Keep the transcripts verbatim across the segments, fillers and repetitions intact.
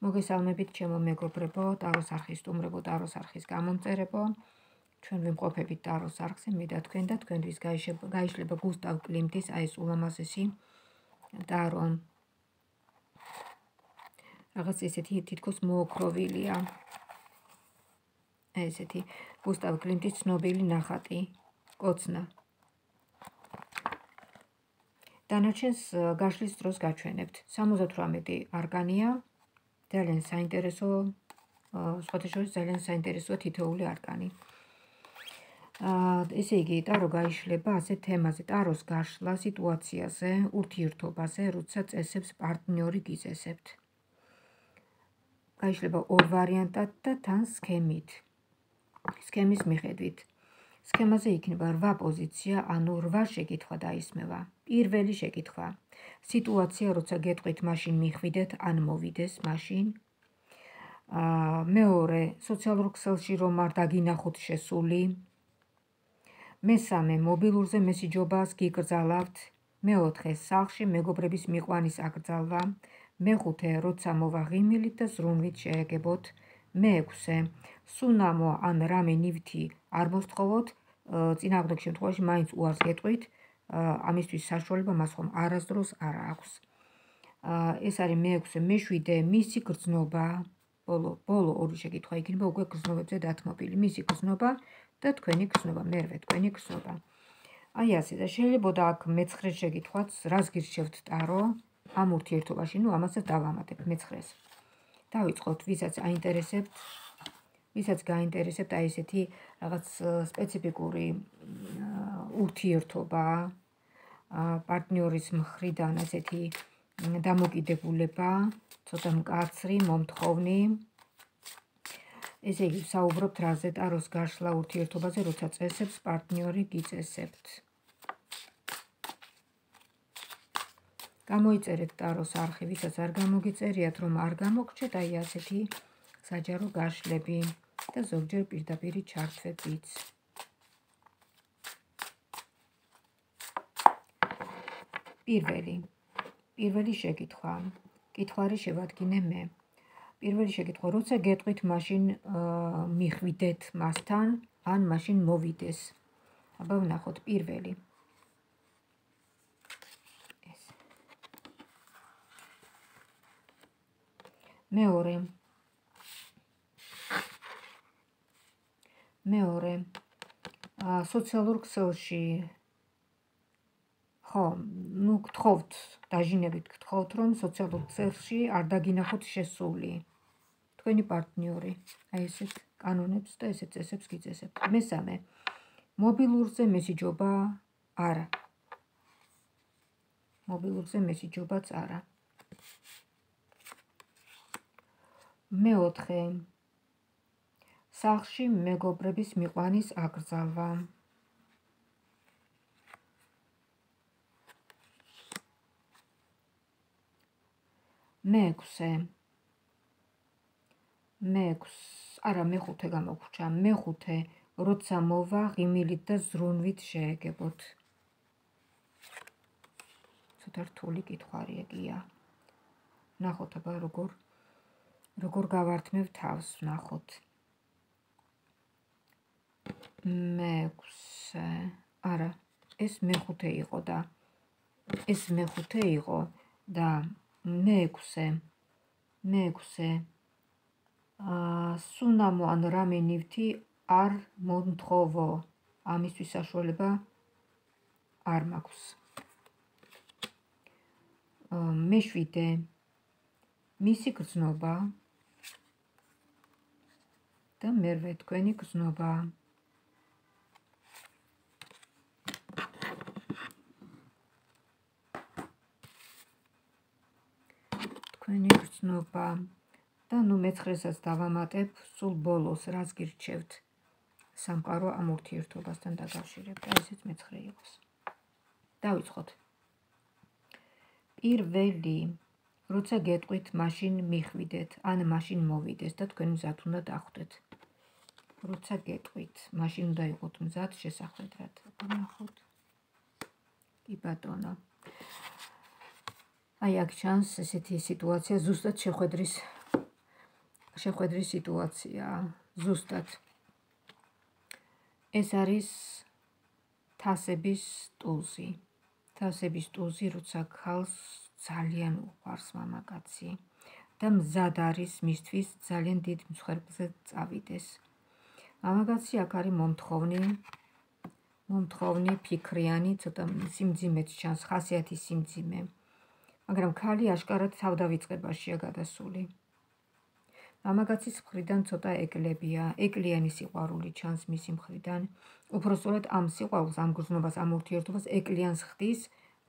მოგესალმებით ჩემო მეგობრებო, ტაროს არხის სტუმრებო, ტაროს არხის გამომწერებო. ჩვენ ვიმყოფებით ტაროს არხზე, მე და თქვენ და თქვენთვის გაიშლება გუსტავ კლიმტის აი ეს ულამაზესი ტარო. რაღაც ესეთი თითქოს მოოქროვილია. ესეთი გუსტავ კლიმტის ცნობილი ნახატი, კოცნა. დანარჩენს გაშლის დროს გაჩვენებთ. სამოცდათვრამეტი არკანია. ძალიან საინტერესო, სხვათა შორის ძალიან საინტერესოა თითოეული არკანი. ესე იგი, ტარო გაიშლება ასეთ თემაზე, ტაროს გაშლა სიტუაციაზე, ურთიერთობაზე, როცა წესებს პარტნიორი გიწესებთ. გაიშლება ორ ვარიანტად და თან სქემით. სქემის მიხედვით. სქემაზე იქნება რვა პოზიცია, ანუ რვა შეკითხვა დაისმევა. პირველი შეკითხვა. სიტუაცია, როცა გეტყვით, მაშინ მიხვიდეთ, ან მოვიდეს მაშინ. მეორე, სოციალურ ქსელში რომ არ დაგინახოთ შესული. მესამე, მობილურზე მესიჯობას გიკრძალავთ. მეოთხე, სახლში მეგობრების მიყვანის აკრძალვა. მეხუთე, როცა მოვა ღიმილით და ზრუნვით შეეგებოთ. მეექვსე, სუნამო ან რამე ნივთი არ მოსთხოვოთ, წინააღმდეგ შემთხვევაში მაინც უარს გეტყვით, ამისთვის საშუალება მას ხომ არასდროს არ აქვს. ეს არის მეექვსე, მეშვიდე, მისი გრძნობა, ბოლო ბოლო ორი შეკითხვა იქნება უკვე გრძნობებზე დათმობილი, მისი გრძნობა და თქვენი გრძნობა, მერვე თქვენი გრძნობა. აი ასე და შეიძლებოდა აქ მეცხრე შეკითხვაც, რას გირჩევთ ტარო ამ ურთიერთობაში, ნუ ამასაც დავამატებთ მეცხრეს. დავიწყოთ, ვისაც აინტერესებთ, ვისაც გაინტერესებთ აი ესეთი რაღაც სპეციფიკური ურთიერთობა, პარტნიორის მხრიდან ესეთი დამოკიდებულება, ცოტა მკაცრი, მომთხოვნი. ესე იგი, საუბრობთ რაზე, ტაროს გაშლა ურთიერთობაზე, როცა წესებს პარტნიორი გიწესებთ. გამოიწერეთ ტაროს არხი, ვისაც არ გამოგიწერიათ, რომ არ გამოგრჩეთ, აი ასეთი საჯარო გაშლები და ზოგჯერ პირდაპირი ჩართვებიც. პირველი. პირველი შეკითხვა. კითხვარი შევადგინე მე. პირველი შეკითხვა, როცა გეტყვით, მაშინ მიხვიდეთ მასთან, ან მაშინ მოვიდეს. აბა ვნახოთ პირველი. ეს. მეორე. მეორე. სოციალურ ქსელში ხო, ნუ გთხოვთ, დაჟინებით გთხოვთ, რომ სოციალურ ქსელში არ დაგინახოთ შესული. თქვენი პარტნიორი, აი ესეთ კანონებს და ესეთ წესებს გიწესებთ. მესამე, მობილურზე მესიჯობა არა. მობილურზე მესიჯობაც არა. მეოთხე, სახლში მეგობრების მიყვანის აკრძალვა. მეექვსე. მეექვსე, არა, მეხუთე გამოგვრჩა. მეხუთე, როცა მოვა ღიმილით და ზრუნვით შეეგებოთ. ცოტა რთული კითხვარი ეგია. ნახოთ აბა როგორ როგორ გავართმევ თავს, ნახოთ. მეექვსე, არა, ეს მეხუთე იყო და ეს მეხუთე იყო და მეექვსე, მეექვსე, სუნამო ან რამე ნივთი არ მომთხოვო, ამისთვის საშუალება არ მაქვს. მეშვიდე, მისი გრძნობა და მერვე თქვენი გრძნობა. თქვენი გრძნობა და ნუ მეცხრესაც დავამატებ, სულ ბოლოს რას გირჩევთ სამყარო ამ ურთიერთობასთან დაკავშირებით. აი ესეც მეცხრე იყოს. დავიწყოთ. პირველი, როცა გეტყვით, მაშინ მიხვიდეთ, ან მაშინ მოვიდეს და თქვენ მზად უნდა დახვდეთ. როცა გეტყვით, მაშინ უნდა იყოთ მზად შესახვედრად. ნახოთ. კი ბატონო. აი აქ ჩანს ესეთი სიტუაცია, ზუსტად შეხვედრის შეხვედრის სიტუაციაა. ზუსტად. ეს არის თასების ტუზი. თასების ტუზი, როცა ქალს ძალიან უყვარს მამაკაცი და მზად არის მისთვის ძალიან დიდ მსხვერპლზე წავიდეს. მამაკაცი აქ არის მომთხოვნი, მომთხოვნი, ფიქრიანი, ცოტა სიმძიმეც ჩანს, ხასიათი სიმძიმე. მაგრამ ქალი აშკარად თავდავიწყებაშია გადასული. მამაკაცის მხრიდან ცოტა ეკლებია, ეკლიანი სიყვარული ჩანს მისი მხრიდან. უпростоრად ამ სიყვარულს, ამ გრძნობას, ამ ურთიერთობას ეკლიანს ხდის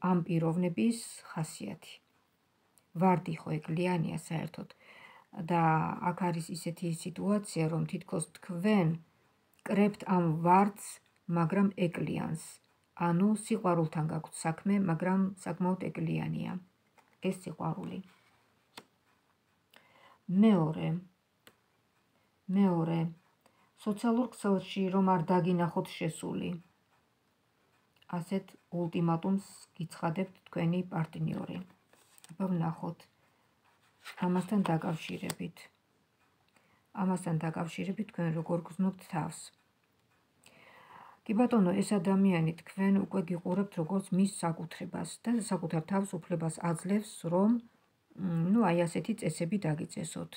ამ პიროვნების ხასიათი. ვარდი ხო ეკლიანია საერთოდ და აქ არის ისეთი სიტუაცია, რომ თითქოს თქვენ კრებთ ამ ვარდს, მაგრამ ეკლიანს. ანუ სიყვარულთან გაქვთ საქმე, მაგრამ საკმაოდ ეკლიანია ეს სიყვარული. მეორე, მეორე, სოციალურ ქსელში რომ არ დაგინახოთ შესული. ასეთ ულტიმატუმს გიცხადებთ თქვენი პარტნიორი. აბა ვნახოთ. ამასთან დაკავშირებით. ამასთან დაკავშირებით თქვენ როგორ გრძნობთ თავს. კი ბატონო, ეს ადამიანი თქვენ უკვე გიყურებთ როგორც მის საკუთრებას და საკუთარ თავს უფლებას აძლევს, რომ ნუ აი ასეთი წესები დაგიწესოთ.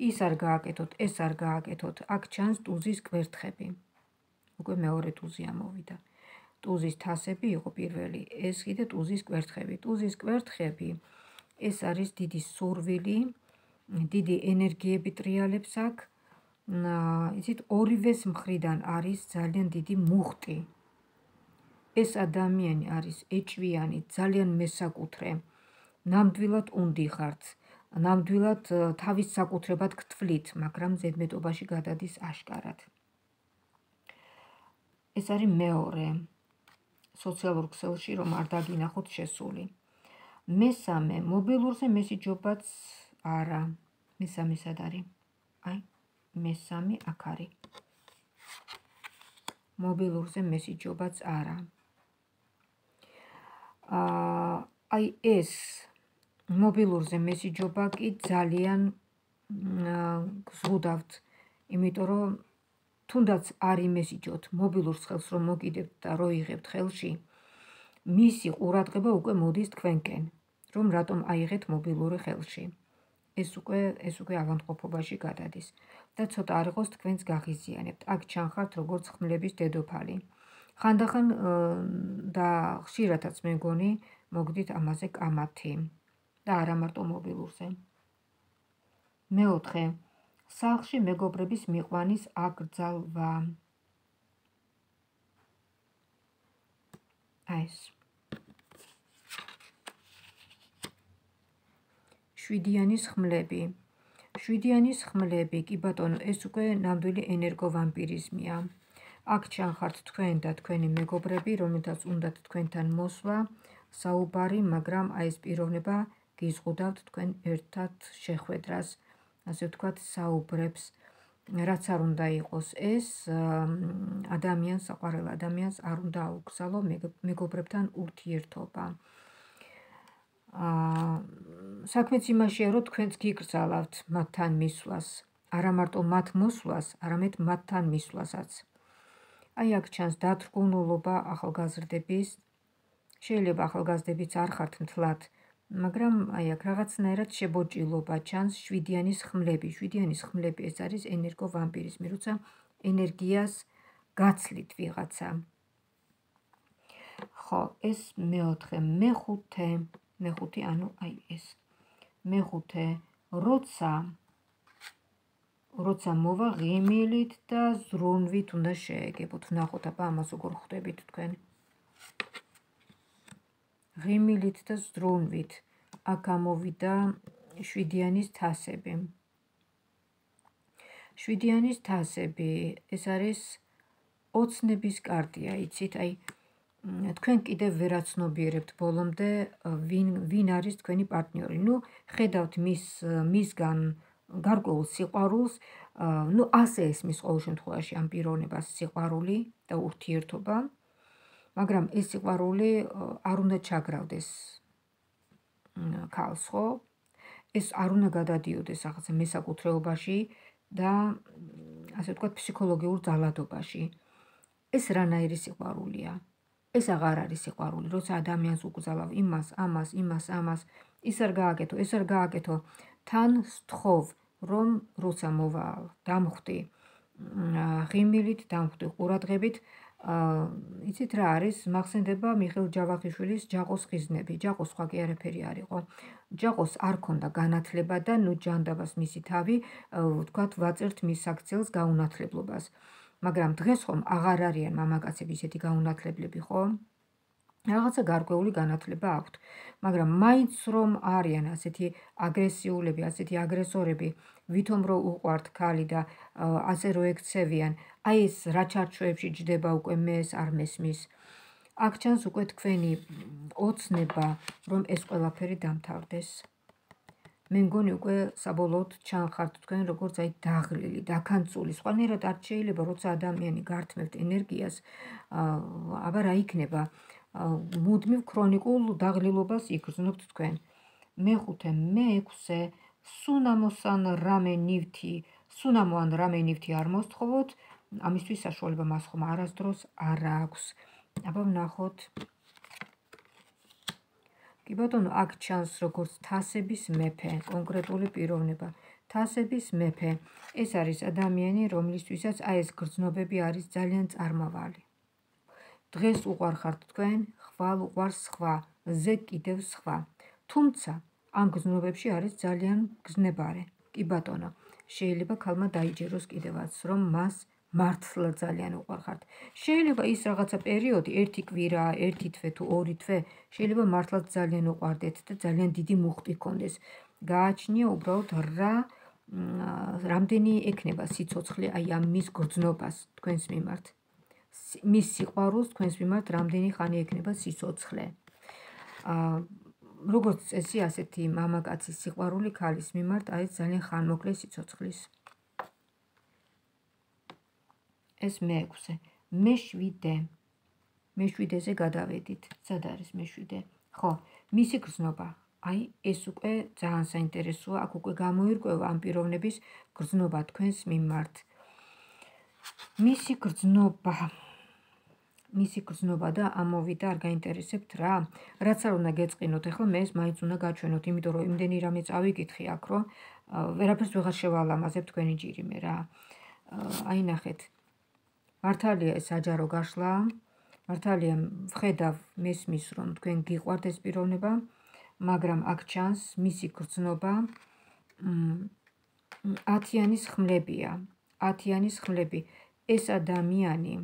ის არ გააკეთოთ, ეს არ გააკეთოთ. აქ ჩანს ტუზის კვერთხები. უკვე მეორე ტუზი ამოვიდა. ტუზის თასები იყო პირველი, ეს კიდე ტუზის კვერთხები. ტუზის კვერთხები ეს არის დიდი სურვილი, დიდი ენერგიები ტრიალებს აქ. იცით, ორივეს მხრიდან არის ძალიან დიდი მუხტი. ეს ადამიანი არის ეჭვიანი, ძალიან მესაკუთრე. ნამდვილად უნდიხართ, ნამდვილად თავის საკუთრებად გთვლით, მაგრამ ზედმეტობაში გადადის აშკარად. ეს არის მეორე. სოციალურ ქსელში რომ არ დაგინახოთ შესული. მესამე, მობილურზე მესიჯობაც არა. მესამე სად არის? აი, მესამე აქ არის. მობილურზე მესიჯობაც არა. აი ეს მობილურზე მესიჯობა კი ძალიან გზღუდავთ, იმიტომ რომ თუნდაც არ იმესიჯოთ, მობილურს ხელს რომ მოგიდებთ და რო იღებთ ხელში, მისი ყურადღება უკვე მოდის თქვენკენ, რომ რატომ აიღეთ მობილური ხელში. ეს უკვე ეს უკვე ავადმყოფობაში გადადის და ცოტა არ იყოს თქვენს გაღიზიანებთ. აქ ჩანხართ როგორც ხმლების დედოფალი. ხანდახან და ხშირადაც მეგონი მოგდით ამაზე კამათი და არა მარტო მობილურზე. მეოთხე, სახლში მეგობრების მიყვანის აკრძალვა. აი ეს. შვიდიანის ხმლები. შვიდიანის ხმლები, კი ბატონო, ეს უკვე ნამდვილი ენერგოვამპირიზმია. აქ ჩანხართ თქვენ და თქვენი მეგობრები, რომელთაც უნდათ თქვენთან მოსვლა, საუბარი, მაგრამ აი ეს პიროვნება გიზღუდავთ თქვენ ერთად შეხვედრას, ასე ვთქვათ, საუბრებს, რაც არ უნდა იყოს ეს, ადამიანს, საყვარელ ადამიანს არ უნდა აუგზავნო მეგობრებთან ურთიერთობა. საქმეც იმაშია, რომ თქვენც გიგრძალავთ მათთან მისვლას, არა მარტო მათ მოსვლას, არამედ მათთან მისვლასაც. აი აქ ჩანს დათრგუნულობა ახალგაზრდების, შეიძლება ახალგაზრდებიც არ ხართ მთლად, მაგრამ აი აქ რაღაცნაირად შებოჭილობა ჩანს, შვიდიანის ხმლები. შვიდიანის ხმლები ეს არის ენერგოვამპირიზმი, როცა ენერგიას გაცლით ვიღაცა. ხო, ეს მეოთხე, მეხუთე, მეხუთე, ანუ აი ეს. მეხუთე, როცა როცა მოვა ღიმილით და ზრუნვით უნდა შეეგებოთ. ვნახოთ აბა ამას როგორ ხვდებით თქვენ. ღიმილით და ზრუნვით. აქ ამოვიდა შვიდიანის თასები. შვიდიანის თასები, ეს არის ოცნების კარტია, იცით, აი თქვენ კიდევ ვერ აცნობიერებთ ბოლომდე ვინ ვინ არის თქვენი პარტნიორი. ნუ ხედავთ მის მისგან გარკვეულ სიყვარულს, ნუ ასე ესმის ყოველ შემთხვევაში ამ პიროვნებას სიყვარული და ურთიერთობა, მაგრამ ეს სიყვარული არ უნდა ჩაგრავდეს ქალს, ხო? ეს არ უნდა გადადიოდეს რაღაცა მესაკუთრეობაში და ასე ვთქვათ ფსიქოლოგიურ ძალადობაში. ეს რანაირი სიყვარულია? ეს აღარ არის სიყვარული, როცა ადამიანს უკრძალავ იმას, ამას, იმას, ამას, ის არ გააკეთო, ეს არ გააკეთო, თან სთხოვ, რომ როცა მოვა დამხვდი ღიმილით, დამხვდი ყურადღებით, იცით რა არის, მახსენდება მიხეილ ჯავახიშვილის ჯაყოს ხიზნები. ჯაყოს სხვა კი არაფერი არ იყო. ჯაყოს არ ქონდა განათლება და ნუ ჯანდაბას მისი თავი, ვთქვათ, ვაწერთ მის საქციელს გაუნათლებლობას. მაგრამ დღეს ხომ აღარ არიან მამაკაცები ისეთი გაუნათლებლები, ხო? რაღაცა გარკვეული განათლება აქვთ, მაგრამ მაინც რომ არიან ასეთი აგრესიულები, ასეთი აგრესორები, ვითომ რო უყვართ ქალი და ასე რო ექცევიან, აი ეს რა ჩარჩოებში ჯდება უკვე მე ეს არ მესმის. აქ ჩანს უკვე თქვენი ოცნება, რომ ეს ყველაფერი დამთავრდეს. მე მგონი უკვე საბოლოოდ ჩანხართ თქვენ როგორც აი დაღლილი, დაქანწული, სხვანაირად არ შეიძლება, როცა ადამიანი გართმევთ ენერგიას, აბა რა იქნება? მუდმივ ქრონიკულ დაღლილობას იგრძნობთ თქვენ. მეხუთე, მეექვსე, სუნამოსან რამე ნივთი, სუნამო ან რამე ნივთი არ მოსთხოვოთ, ამისთვის საშუალება მას ხომ არასდროს არ აქვს. აბა ვნახოთ. კი ბატონო, აქ ჩანს როგორც თასების მეფე, კონკრეტული პიროვნება. თასების მეფე, ეს არის ადამიანი, რომლისთვისაც აი ეს გრძნობები არის ძალიან წარმავალი. დღეს უყვარხართ თქვენ, ხვალ უყვარს სხვა, ზე კიდევ სხვა. თუმცა ამ გრძნობებში არის ძალიან გზნებარე. კი ბატონო, შეიძლება ქალმა დაიჯეროს კიდევაც, რომ მას მართლა ძალიან უყვარხართ. შეიძლება ის რაღაცა პერიოდი, ერთი კვირა, ერთი თვე თუ ორი თვე, შეიძლება მართლაც ძალიან უყვარდეთ და ძალიან დიდი მუხტი ჰქონდეს. გააჩნია უბრალოდ რა რამდენი ექნება სიცოცხლე აი ამ მის გრძნობას თქვენს მიმართ. მის სიყვარულს თქვენს მიმართ რამდენი ხანი ექნება სიცოცხლე. როგორც წესი, ასეთი მამაკაცის სიყვარული ქალის მიმართ არის ძალიან ხანმოკლე სიცოცხლის. ეს მეექვსე. მეშვიდე. მეშვიდეზე გადავედით. სად არის მეშვიდე? ხო, მისი გრძნობა. აი, ეს უკვე ძალიან საინტერესოა, აქ უკვე გამოირკვევა ამ პიროვნების გრძნობა თქვენს მიმართ. მისი გრძნობა. მისი გრძნობა და ამოვიდა არ გაინტერესებთ რა? რაც არ უნდა გეწყინოთ, ახლა მე ეს მაინც უნდა გაჩვენოთ, იმიტომ რომ იმდენი რამე წავიკითხი აქ, რომ ვერაფერს ვეღარ შევალამაზებ თქვენი ჯირიმე რა. აი ნახეთ. მართალია ეს საჯარო გაშლა, მართალია ვხედავ მესმის რომ თქვენ გიყვართ ეს პიროვნება, მაგრამ აქ ჩანს მისი გრძნობა ათიანის ხმლებია. ათიანის ხმლები. ეს ადამიანი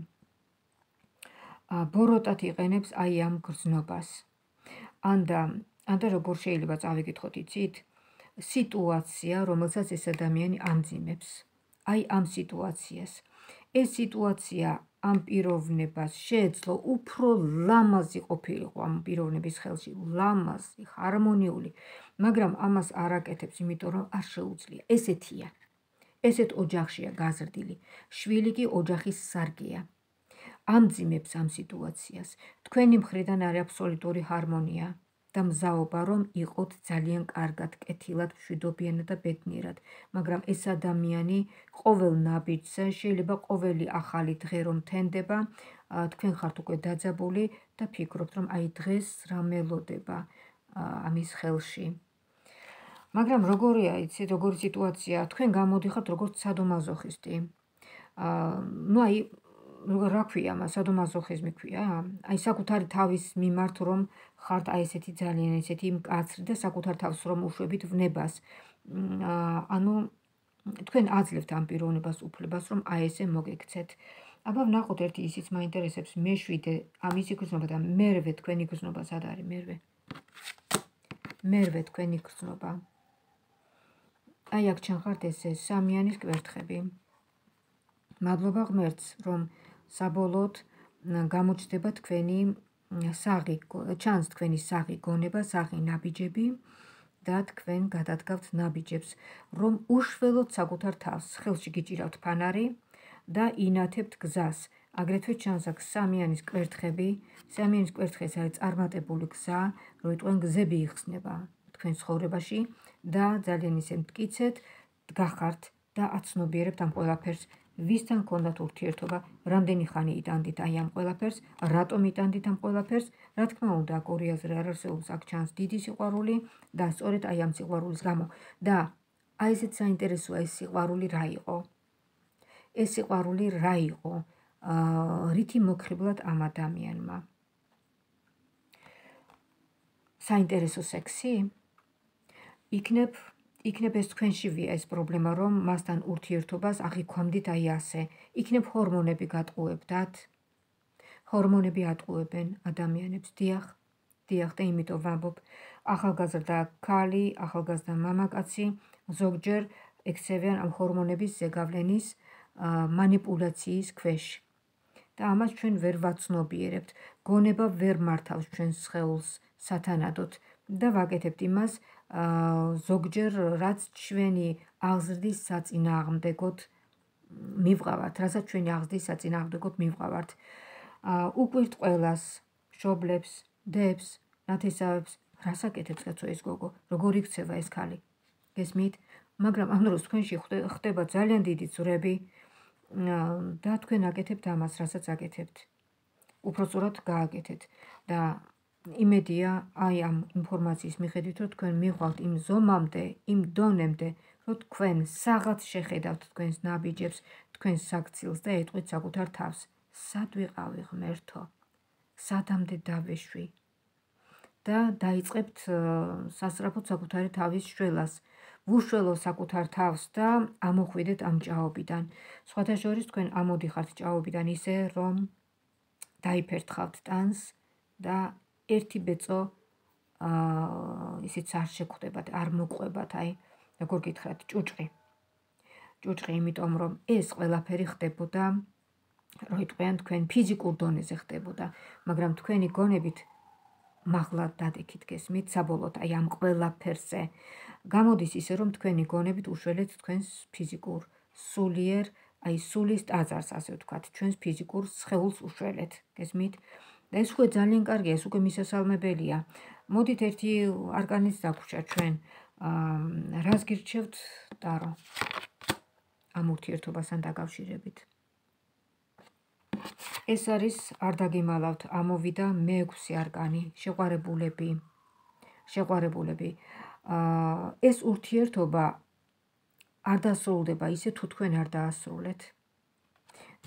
ბოროტად იყენებს აი ამ გრძნობას. ანდა, ანდა როგორ შეიძლება წავიკითხოთ, იცით? სიტუაცია, რომელსაც ეს ადამიანი ამძიმებს. აი ამ სიტუაციას. ეს სიტუაცია ამ პიროვნებას შეეძლო უფრო ლამაზი ყოფილიყო ამ პიროვნების ხელში, ლამაზი, ჰარმონიული, მაგრამ ამას არ აკეთებს, იმიტომ რომ არ შეუძლია. ესეთია. ესეთ ოჯახშია გაზრდილი. შვილი კი ოჯახის სარგეა. ამძიმებს ამ სიტუაციას. თქვენი მხრიდან არის აბსოლუტური ჰარმონია და მზაობა რომ იყოთ ძალიან კარგად, კეთილად, მშვიდობიანად და ბედნიერად, მაგრამ ეს ადამიანი ყოველ ნაბიჯზე, შეიძლება ყოველი ახალი დღე რომ თენდება, თქვენ ხართ უკვე დაძაბული და ფიქრობთ რომ აი დღეს რა მელოდება ამის ხელში. მაგრამ როგორია, იცით, როგორი სიტუაცია, თქვენ გამოდიხართ როგორც სადომაზოხისტი. ნუ აი რა ქვია მას, სადომაზოხიზმი ქვია? აი საკუთარი თავის მიმართ რომ ხართ აი ესეთი ძალიან ესეთი მკაცრი და საკუთარ თავს რომ უშვებით ვნებას. ანუ თქვენ აძლევთ ამ პიროვნებას უფლებას რომ აი ესე მოგექცეთ. აბა ვნახოთ ერთი ისიც მაინტერესებს, მეშვიდე ამისი გრძნობა და მერვე თქვენი გრძნობა სად არის მერვე? მერვე თქვენი გრძნობა. აი აქ ჩანხართ ესე სამიანის კვერთხები. მადლობა ღმერთს, რომ საბოლოოდ გამოჩნდება თქვენი საღი, ჩანს თქვენი საღი გონება, საღი ნაბიჯები და თქვენ გადადგავთ ნაბიჯებს, რომ უშველოთ საკუთარ თავს, ხელში გიჭირავთ ფანარი და ინათებთ გზას. აგრეთვე ჩანს აქ სამიანის კვერთხები, სამიანის კვერთხი არის წარმატებული გზა, რომ თქვენ გზები იხსნება თქვენ ცხოვრებაში და ძალიან ისე მტკიცეთ გახართ და აცნობიერებთ ამ ყველაფერს, ვისთან გქონდათ ურთიერთობა, რამდენი ხანი იტანდით აი ამ ყველაფერს, რატომ იტანდით ამ ყველაფერს, რა თქმა უნდა, ორი აზრი არ არსებობს, აქ ჩანს დიდი სიყვარული და სწორედ აი ამ სიყვარულის გამო და აი ესეც საინტერესოა ეს სიყვარული რა იყო. ეს სიყვარული რა იყო, რითი მოგხიბლად ამ ადამიანმა. საინტერესო სექსი? იქნებ იქნებ ეს თქვენშივია ეს პრობლემა, რომ მასთან ურთიერთობას აღიქვამდით აი ასე. იქნებ ჰორმონები გატყუებდათ. ჰორმონები ატყუებენ ადამიანებს, დიახ, დიახ და იმიტომ ვამბობ, ახალგაზრდა ქალი, ახალგაზრდა მამაკაცი ზოგჯერ ექცევიან ამ ჰორმონების ზეგავლენის მანიპულაციის ქვეშ. და ამას ჩვენ ვერ ვაცნობიერებთ. გონება ვერ მართავს ჩვენს სხეულს სათანადოდ და ვაკეთებთ იმას ზოგჯერ რაც ჩვენი აღზრდის საწინააღმდეგოდ მივყავართ, რასაც ჩვენი აღზრდის საწინააღმდეგოდ მივყავართ. უკვირთ ყველას, მშობლებს, დებს, ნათესავებს, რას აკეთებს კაცო ეს გოგო, როგორ იქცევა ეს ქალი. გესმით? მაგრამ ამ დროს თქვენში ხდება ძალიან დიდი ძვრები და თქვენ აკეთებთ ამას, რასაც აკეთებთ. უпростоრად გააკეთეთ და იმედია აი ამ ინფორმაციის მიხედვით, რომ თქვენ მივყავთ იმ ზომამდე, იმ დონემდე, რომ თქვენ საღაც შეხედავთ თქვენს ნაბიჯებს, თქვენს საქცილს და ეტყვით საკუთარ თავს. სად ვიყავი ღმერთო? სადამდე დავეშვი? და დაიწყებთ სასწრაფოდ საკუთარი თავის შველას. ვუშველო საკუთარ თავს და ამოხვიდეთ ამ ჭაობიდან. სხვათა შორის თქვენ ამოდიხართ ჭაობიდან ისე, რომ დაიფერთხავთ ტანს და ერთი ბეწო ისიც არ შეგხვდებათ, არ მოგყვებათ, აი, როგორ გითხრათ, ჭუჭყი. ჭუჭყი, იმიტომ რომ ეს ყველაფერი ხდებოდა, რო იტყვიან თქვენ ფიზიკურ დონეზე ხდებოდა, მაგრამ თქვენი გონებით მაღლა დადექით, გესმით, საბოლოოდ აი ამ ყველაფერზე. გამოდის ისე, რომ თქვენი გონებით უშველეთ თქვენს ფიზიკურ, სულიერ, აი სულის ტაძარს, ასე ვთქვათ, ჩვენს ფიზიკურ სხეულს უშველეთ, გესმით? და ეს უკვე ძალიან კარგია, ეს უკვე მისასალმებელია. მოდით ერთი არკანიც დაგვრჩა ჩვენ. რას გირჩევთ, ტარო? ამ ურთიერთობასთან დაკავშირებით. ეს არის არ დაგიმალავთ, ამოვიდა მეექვსე არკანი, შეყვარებულები. შეყვარებულები. ეს ურთიერთობა არ დასრულდება ისე, თუ თქვენ არ დაასრულეთ.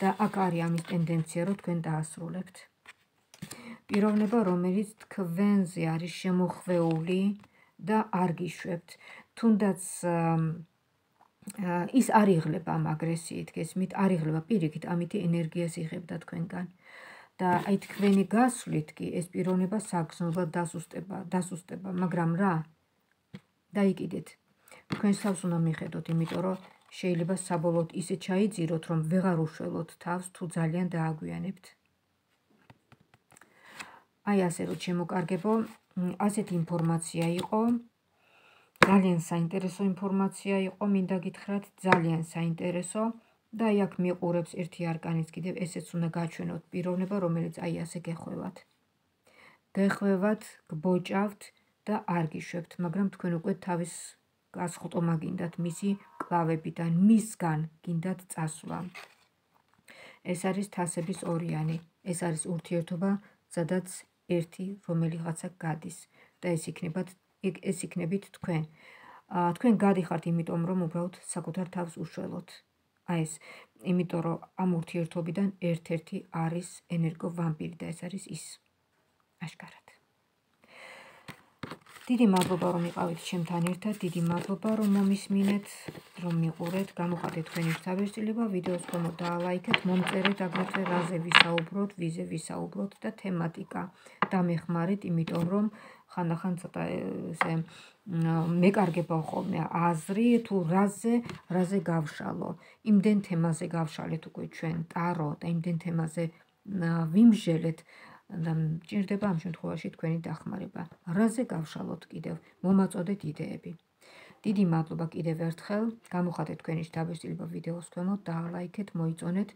და აქ არის ამის ტენდენცია, რომ თქვენ დაასრულებთ. პიროვნება, რომელიც თქვენზე არის შემოხვეული და არ გიშვებთ. თუნდაც ის არ იღლება ამ აგრესიით, გესმით, არ იღლება პირიქით, ამითი ენერგიას იღებდა თქვენგან. და აი თქვენი გასვლით კი ეს პიროვნება საგრძნობლად დასუსტება, დასუსტება, მაგრამ რა? დაიკიდეთ. თქვენს თავს უნდა მიხედოთ, იმიტომ რომ შეიძლება საბოლოოდ ისე ჩაიძიროთ, რომ ვეღარ უშველოთ თავს, თუ ძალიან დააგვიანებთ. აი ასე რომ შემოკარგებო, ასეთი ინფორმაცია იყო. ძალიან საინტერესო ინფორმაცია იყო, მინდა გითხრათ, ძალიან საინტერესო და აი აქ მიყურებს ერთი არკანიც კიდევ, ესეც უნდა გაჩვენოთ პიროვნება, რომელიც აი ასე გეხვევათ. გეხვევათ, გბოჭავთ და არ გიშვებთ, მაგრამ თქვენ უკვე თავის გასხტომა გინდათ მისი კლავებიდან, მისგან გინდათ წასვლა. ეს არის თასების ორიანი, ეს არის ურთიერთობა, სადაც ერთი რომელიღაცა გადის და ეს იქნებათ ეს იქნებით თქვენ. თქვენ გადიხართ იმიტომ, რომ უბრალოდ საკუთარ თავს უშველოთ. აი ეს, იმიტომ რომ ამ ურთიერთობიდან ერთ-ერთი არის ენერგო ვამპირი და ეს არის ის. აშკარად. დიდი მადლობა, რომ იყავით ჩემთან ერთად, დიდი მადლობა, რომ მომისმინეთ, რომ მიყურეთ, გამოხატეთ თქვენი თავისწილება, ვიდეოს ქვემოთ დაალაიქეთ, მომწერეთ აგრეთვე რაზე ვისაუბროთ, ვიზე ვისაუბროთ და თემატიკა დამეხმარეთ, იმიტომ რომ ხანდახან ცოტა ესე მეკარგება ხოლმე აზრი, თუ რაზე, რაზე გავშალო. იმდენ თემაზე გავშალეთ უკვე ჩვენ ტარო და იმდენ თემაზე ვიმჟელეთ და მჭირდება ამ შემთხვევაში თქვენი დახმარება. რაზე გავშალოთ კიდევ, მომაწოდეთ იდეები. დიდი მადლობა კიდევ ერთხელ, გამოხატეთ თქვენი თავისწილება ვიდეოს ქვემოთ, დაალაიქეთ, მოიწონეთ.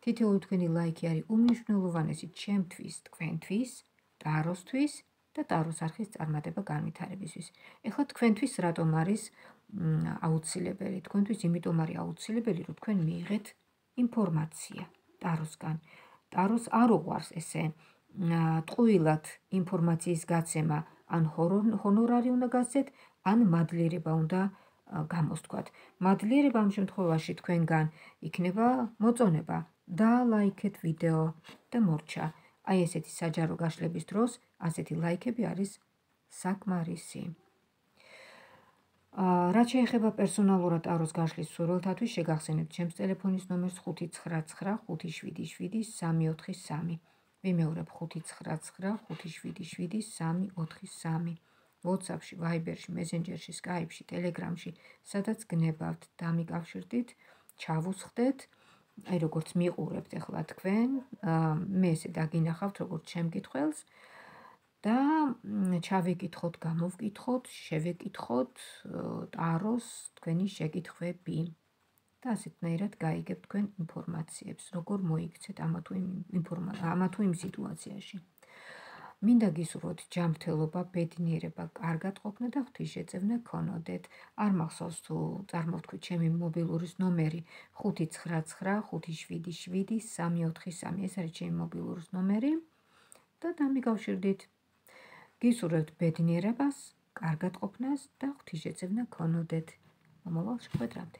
თითოეული თქვენი ლაიქი არის უმნიშვნელოვანესი ჩემთვის, თქვენთვის, ტაროსთვის და ტაროს არხის წარმატება განვითარებისთვის. ეხლა თქვენთვის რატომ არის აუცილებელი? თქვენთვის იმიტომ არის აუცილებელი, რომ თქვენ მიიღეთ ინფორმაცია ტაროსგან. ტაროს არ უყვარს ესე ტყუილად ინფორმაციის გაცემა, ან ჰონორარი უნდა გასცეთ, ან მადლიერება უნდა გამოსთქვათ. მადლიერება ამ შემთხვევაში თქვენგან იქნება მოწონება. დალაიქეთ ვიდეო და მორჩა. აი ესეთი საჯარო გაშლების დროს ასეთი ლაიქები არის საკმარისი. რაც შეეხება პერსონალურად ტაროს გაშლის მსურველთათვის, შეგახსენებთ ჩემს ტელეფონის ნომერს ხუთი ცხრა ცხრა ხუთი შვიდი შვიდი სამი ოთხი სამი. ვიმეორებ ხუთი ცხრა ცხრა ხუთი შვიდი შვიდი სამი ოთხი სამი. WhatsApp-ში, Viber-ში, Messenger-ში, Skype-ში, Telegram-ში, სადაც გნებავთ, დამიკავშირდით, ჩავუსხდეთ. აი როგორც მიყურებთ ახლა თქვენ, მე ესე დაგინახავთ როგორც შემკითხველს და ჩავეკითხოთ, გამოვკითხოთ, შევეკითხოთ ტაროს თქვენი შეკითხვები. და ასეთნაირად გაიგებთ თქვენ ინფორმაციებს, როგორ მოიქცეთ ამა თუ იმ სიტუაციაში. მინდა გისურვოთ ჯანმრთელობა, ბედნიერება, კარგად ყოფნა და ღვთისშეწევნა გქონოდეთ. არ მახსოვს თუ წარმოვთქვით ჩემი მობილურის ნომერი ხუთი ცხრა ცხრა ხუთი შვიდი შვიდი სამი ოთხი სამი. ეს არის ჩემი მობილურის ნომერი და დამიკავშირდით. გისურვებთ ბედნიერებას, კარგად ყოფნას და ღვთისშეწევნა გქონოდეთ. მომავალ შეხვედრამდე.